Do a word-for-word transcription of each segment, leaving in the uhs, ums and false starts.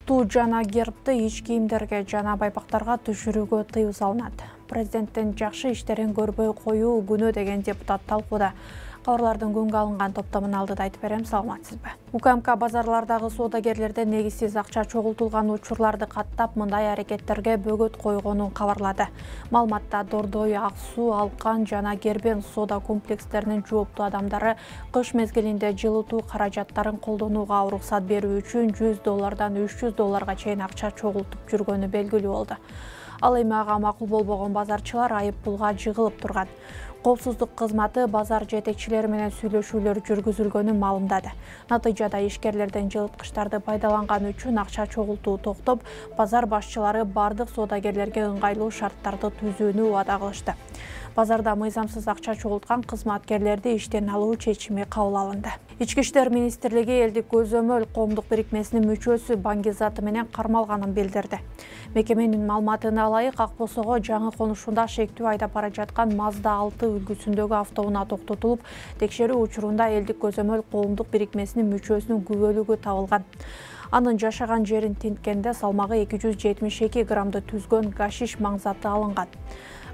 Туу жана гербти ич кийимдерге жана байпактарга түшүрүүгө тыюу салынат. Президенттин жакшы иштерин көрбөй коюу күнөө деген депутат талкууда. Кабарлардын күнгө алынган топтомун алдыда айтып берем, саламатсызбы? УКМК базарлардагы соодагерлерден негизсиз акча чогултулган учурларды каттап, мындай аракеттерге бөгөт койгонун кабарлады. Маалыматта Дордой, Ак Суу, Алкан жана Гербен соода комплекстеринин жооптуу адамдары кыш мезгилинде жылытуу каражаттарын колдонууга уруксат берүү үчүн жүз доллардан үч жүз долларга чейин акча чогултуп жүргөнү белгилүү болду. Ал эми ага макул болбогон базарчылар айып пулга жыгылып турган. Коопсуздук кызматы базар жетекчилери менен сүйлөшүүлөр жүргүзүлгөнүн маалымдады. Натыйжада ишкерлерден жылыткычтарды пайдаланган үчүн акча чогултуу токтоп, базар башчылары бардык соодагерлерге ыңгайлуу шарттарды түзүүнү убада кылышты. Базарда мыйзамсыз акча чогулткан кызматкерлерди иштен алуу чечими кабыл алынды. Ички иштер министрлиги элдик көзөмөл коомдук бирикмесинин мүчөсү Баңгизаты менен кармалганын билдирди. Мекеменин маалыматына ылайык, Ак Босого жаңы конушунда шектүү айдап бара жаткан Мазда алты үлгүсүндөгү автоунаа токтотулуп, текшерүү учурунда элдик көзөмөл коомдук бирикмесинин мүчөсүнүн күбөлүгү табылган. Анын жашаган жерин тинткенде салмагы эки жүз жетимиш эки граммды түзгөн гашиш маңзаты алынган.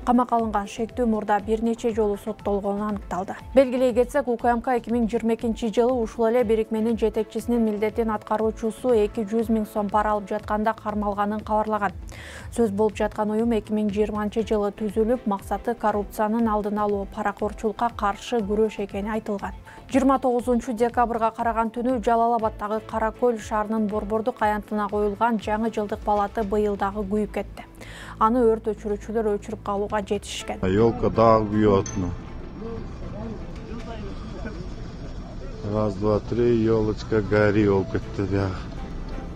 Камакка алынган шектүү мурда бир нече жолу соттолгону аныкталды. Белгилей кетсек, УКМК эки миң жыйырма экинчи жылы ушул эле бирикменин жетекчисинин милдетин аткаруучусу эки жүз миң сом пара алып жатканда кармалганын кабарлаган. Сөз болуп жаткан уюм эки миң жыйырманчы жылы түзүлүп, максаты коррупциянын алдын алуу, паракорчулукка каршы күрөш экени айтылган. жыйырма тогузунчу декабрга караган түнү Жалал-Абаддагы Кара Көл шаарынын Борбордук аянтына коюлган жаңы жылдык балаты быйыл дагы күйүп кетти. Аны өрт өчүрүүчүлөр өчүрүп калууга жетишкен. Елка дагы күйүп атты. Раз, два, три, елочка гори болуп кетти.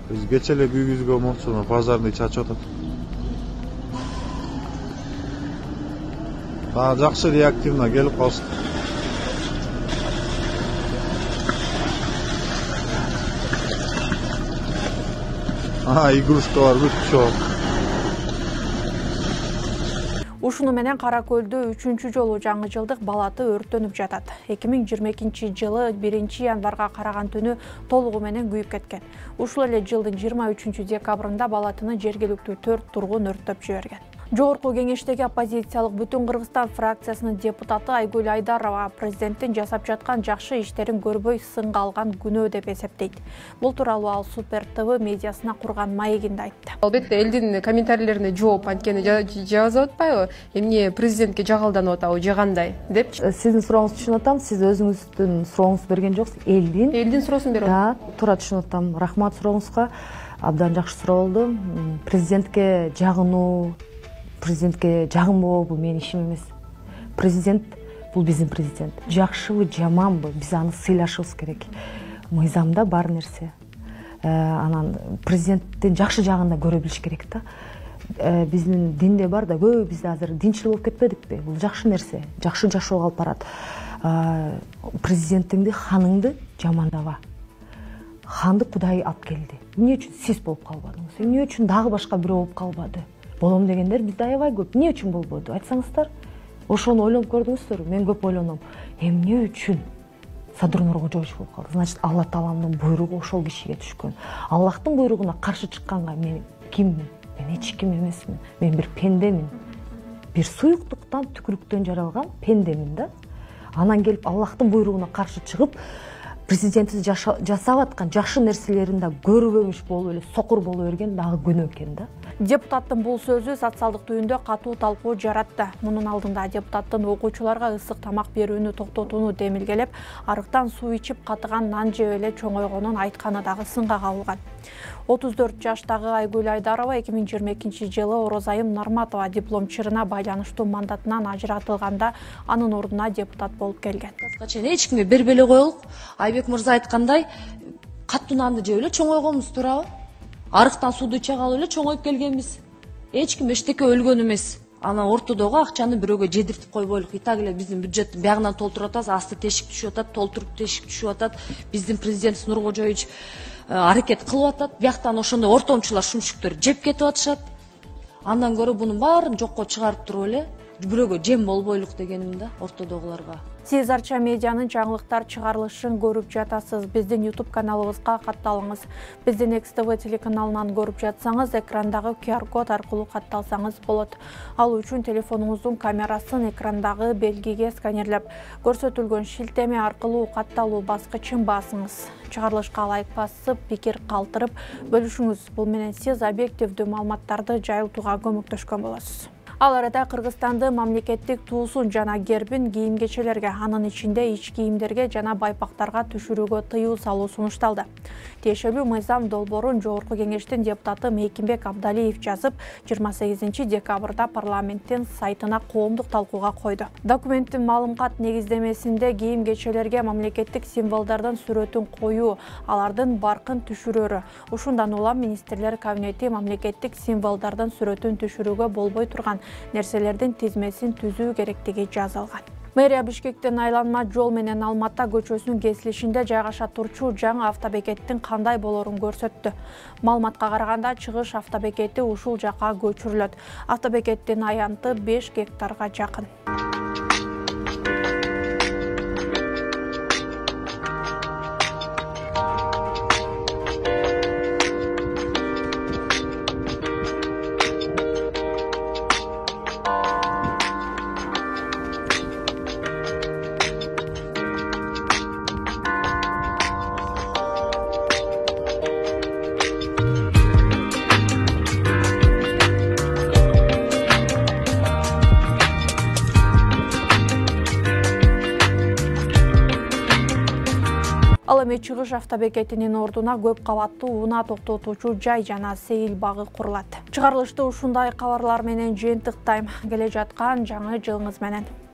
Биз кече эле күйгүзгөн болчу, базарны чачып атат. Дагы жакшы реактивно келип калышты. А, игрушкалар бүт чоң. Ушуну менен Кара Көлдө үчүнчү жолу жаңы жылдык балаты өрттөнүп жатат. эки миң жыйырма экинчи жылы биринчи январга караган түнү толугу менен күйүп кеткен. Ушул эле жылдын жыйырма үчүнчү декабрында балатыны жергиликтүү төрт тургун өрттөп жиберген. Жогорку кеңештеги оппозициялык Бүтүн Кыргызстан фракциясынын депутаты Айгүл Айдарова президенттин жасап жаткан жакшы иштерин көрбөй сынга алган күнөө деп эсептейт. Бул тууралуу ал Супер ТВ медиасына курган маегинде айтты. Албетте элдин комментарийлерине жооп анткени жазып атпайбы? Эмне президентке жагалданып атабы, же кандай деп. Сиздин сурооңузду түшүнүп атам. Сиз өзүңүздүн сурооңузду берген жоксуз. Элдин элдин суроосун берип атам. Да, туура түшүнүп атам. Рахмат сурооңузга. Абдан жакшы суроо болду. Президентке жагынуу, президентке жагынбоо бул менин ишим эмес. Президент бул биздин президент. Жакшыбы, жаманбы, биз аны сыйлашыбыз керек. Мыйзамда бар нерсе. Анан президенттин жакшы жагын да көрө билиш керек да. Биздин динде бар да, көп бизде азыр динчил болуп кетпедикпи? Бул жакшы нерсе, жакшы жашоого алып барат. Президентиңди, ханыңды жамандаба. Ханды Кудай алып келди. Эмне үчүн сиз болуп калбадыңыз? Эмне үчүн дагы башка бирөө болуп калбады? Болом дегендер бизде аябай көп. Эмне үчүн болбоду? Айтсаңыздар. Ошону ойлонуп көрдүңүздөрбү? Мен көп ойлоном. Эмне үчүн Садыр Нуркожоевич болуп калды? Значит, Алла Тааланын буйругу ошол кишиге түшкөн. Аллахтын буйругуна каршы чыкканга мен киммин? Мен эч ким эмесмин. Мен бир пендемин. Бир суюктуктан, түкүрүктөн жаралган пендемин да. Анан келип Аллахтын буйругуна каршы чыгып, президентибиз жасап аткан жакшы нерселерин да көрбөмүш болуп эле сокур боло берген дагы күнөө экен да. Депутаттын бул сөзү социалдык түйүндө катуу талкуу жаратты. Мунун алдында депутаттын окуучуларга ысык тамак берүүнү токтотууну демилгелеп, арыктан суу ичип катыган нан жеп эле чоңойгонун айтканы дагы сынга кабылган. отуз төрт жаштагы Айгүл Айдарова эки миң жыйырма экинчи жылы Орозайым Нарматова диплом чырына байланыштуу мандатынан ажыратылганда анын ордуна депутат болуп келген. Эч кимге бербей коелук. Айбек мырза айткандай, каттуу нанды жеп эле чоңойгонбуз, туурабы? Арыктан сууду иче калып эле чоңоюп келгенбиз. Эч ким эчтеке өлгөн эмес. Анан ортодогу акчаны бирөөгө жедиртип койбойлук. И так эле биздин бюджеттин биягынан толтуруп атабыз, асты тешик түшүп атат, толтуруп тешик түшүп атат. Биздин президентибиз Нуркожоевич аракет кылып атат. Бияктан ошондой ортомчулар, шумшүктөр жеп кетип атышат. Андан көрө бунун баарын жокко чыгарып туруп эле бирөөгө жем болбойлук дегеним да ортодогуларга. Сиз Арча медианын жаңылыктар чыгарылышын көрүп жатасыз. Биздин YouTube каналыбызга катталыңыз. Биздин Экс Тэ Вэ телеканалынан көрүп жатсаңыз, экрандагы ку ар код аркылуу катталсаңыз болот. Ал үчүн телефонуңуздун камерасын экрандагы белгиге сканерлеп, көрсөтүлгөн шилтеме аркылуу катталуу баскычын басыңыз. Чыгарылышка лайк басып, пикир калтырып бөлүшүңүз. Бул менен сиз объективдүү маалыматтарды жайылтууга көмөктөшкөн болосуз. Ал арада Кыргызстанды мамлекеттик туусун жана гербин кийим-кечелерге, анын ичинде ич кийимдерге жана байпактарга түшүрүүгө тыюу салуу сунушталды. Тиешелүү мыйзам долбоорун Жогорку Кеңештин депутаты Мейкимбек Абдалиев жазып, жыйырма сегизинчи декабрда парламенттин сайтына коомдук талкууга койду. Документтин маалымат негиздемесинде кийим-кечелерге мамлекеттик символдордун сүрөтүн коюу, алардын баркын түшүрөрү, ушундан улам министрлер кабинети мамлекеттик символдордун сүрөтүн түшүрүүгө болбой турган нерселердин тизмесин түзүү керектиги жазылган. Мэрия Бишкектин айланма жол менен Алмата көчөсүнүн кесилишинде жайгаша турчу жаңы автобекеттин кандай болорун көрсөттү. Маалыматка караганда, чыгыш автобекети ушул жакка көчүрүлөт. Автобекеттин аянты беш гектарга жакын. Ал эми чыгыш автобекетинин ордуна көп кабаттуу унаа токтотуучу жай жана сейил багы курулат. Чыгарылышты ушундай кабарлар менен жыйынтыктайм. Келе жаткан жаңы жылыңыз менен.